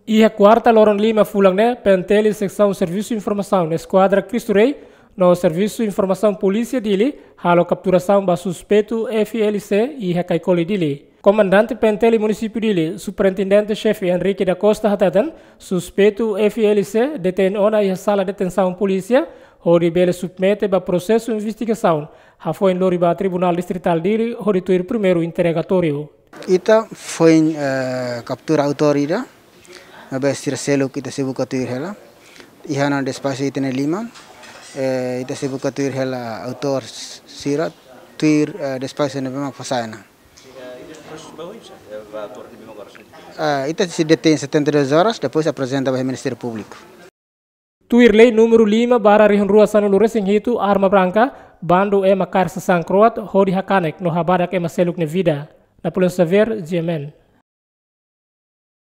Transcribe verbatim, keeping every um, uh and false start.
Iha kuarta loron lima fulan ne'e, PNTL Seksaun Servisu Informasaun Eskuadra Cristo Rei no Servisu Informasaun Polísia Dili halo kapturasaun ba suspeitu F L C iha Caicoli Dili. Komandante PNTL Munisípiu Dili, Superintendente Xefe Henrique da Costa hateten, suspeitu F L C detein ona iha sala detensaun polísia, hodi bele submete ba prosesu investigasaun, hafoin lori ba Tribunál Distritál Dili, hodi tuir primeiru interrogatóriu. Ita foin, eh, kaptura autór ida, maibé sira seluk ita sei buka tuir hela. Iha ona despaxu ita-nia liman, eh, ita sei buka tuir hela autór sira, tuir, eh, despaxu ne'ebé mak fó sai ona. Ah, ita sei detein setenta e duas horas, depois aprezenta ba Ministériu Públiku. Tuir lei númeru lima barra rihun rua sanulu resin hitu, arma branka, bandu ema kaer sasán kroat, hodi hakanek no habadak ema seluk nia vida. Napoleão Xavier, G M N.